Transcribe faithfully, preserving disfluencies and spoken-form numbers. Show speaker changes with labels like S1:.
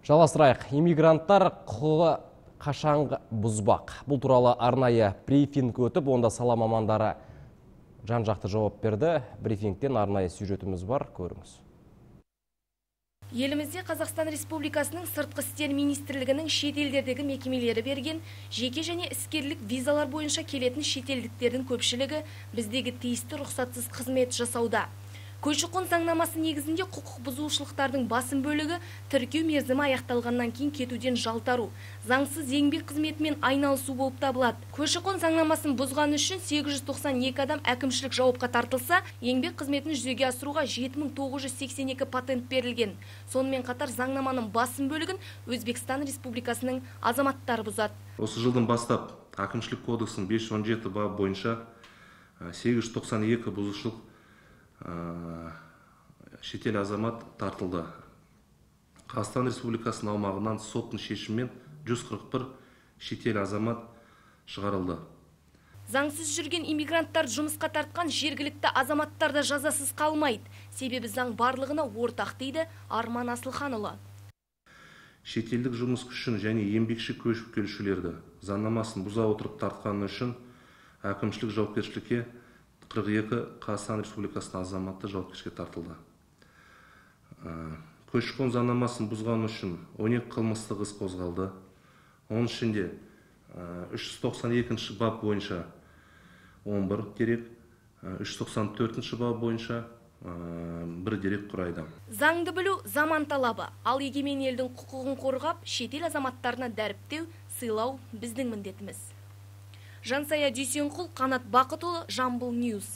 S1: Жалғастырайық. Иммигранттар құқығы қашан бұзбақ. Бұл туралы арнайы брифинг өтіп, онда сала мамандары жан-жақты жауап берді. Брифингтен арнайы сюжетіміз бар, көріңіз.
S2: Елімізде Қазақстан Республикасының сыртқы істер министрлігінің шетелдердегі мекемелері берген жеке және іскерлік визалар бойынша келетін шетелдіктердің көпшілігі біздегі тиісті рұқсатсыз қызмет жасауда. Көші-қон заңнамасы негізінде құқық бұзушылықтардың басым бөлігі тіркеу мерзімі аяқталғаннан кейін кетуден жалтару, заңсыз еңбек қызметімен айналысу болып табылады. Көші-қон заңнамасын бұзған үшін сегіз жүз тоқсан екі адам әкімшілік жауапқа тартылса, еңбек қызметін жүзеге асыруға жеті мың тоғыз жүз сексен екі патент берілген. Сонымен қатар заңнаманың басым бөлігін Өзбекстан Республикасының азаматтары бұзады.
S3: Осы жылдан бастап әкімшілік кодексінің бес жүз он жеті бабы бойынша сегіз жүз тоқсан екі бұзушылық шетел азамат тартылды. Қазақстан Республикасының аумағынан соттың шешімімен жүз қырық бір шетел азамат шығарылды.
S2: Заңсыз жүрген иммигранттар жұмысқа тартқан жергілікті азаматтар да жазасыз қалмайды. Себебі заң барлығына ортақ дейді Арман Асылханұлы.
S3: Шетелдік жұмыс күшін және еңбекші көшіп келушілерді заңнамасын бұза отырып тартқаны үшін әкімшілік жауапкершілікке қырық екі Қазақстан Республикасының азаматы жауапкершілікке тартылды. Көші-қон заңнамасын бұзған үшін он екі қылмыстық іс қозғалды. Оның ішінде үш жүз тоқсан екінші бап бойынша он бір дерек, үш жүз тоқсан төртінші бап бойынша бір дерек құрайды.
S2: Заңды білу заман талабы. Ал егемен елдің құқығын қорғап, шетел азаматтарына дәріптеу, сыйлау біздің міндетіміз. Жансая Дүйсенқұл, Қанат Бақытұлы, Жамбыл Ньюс.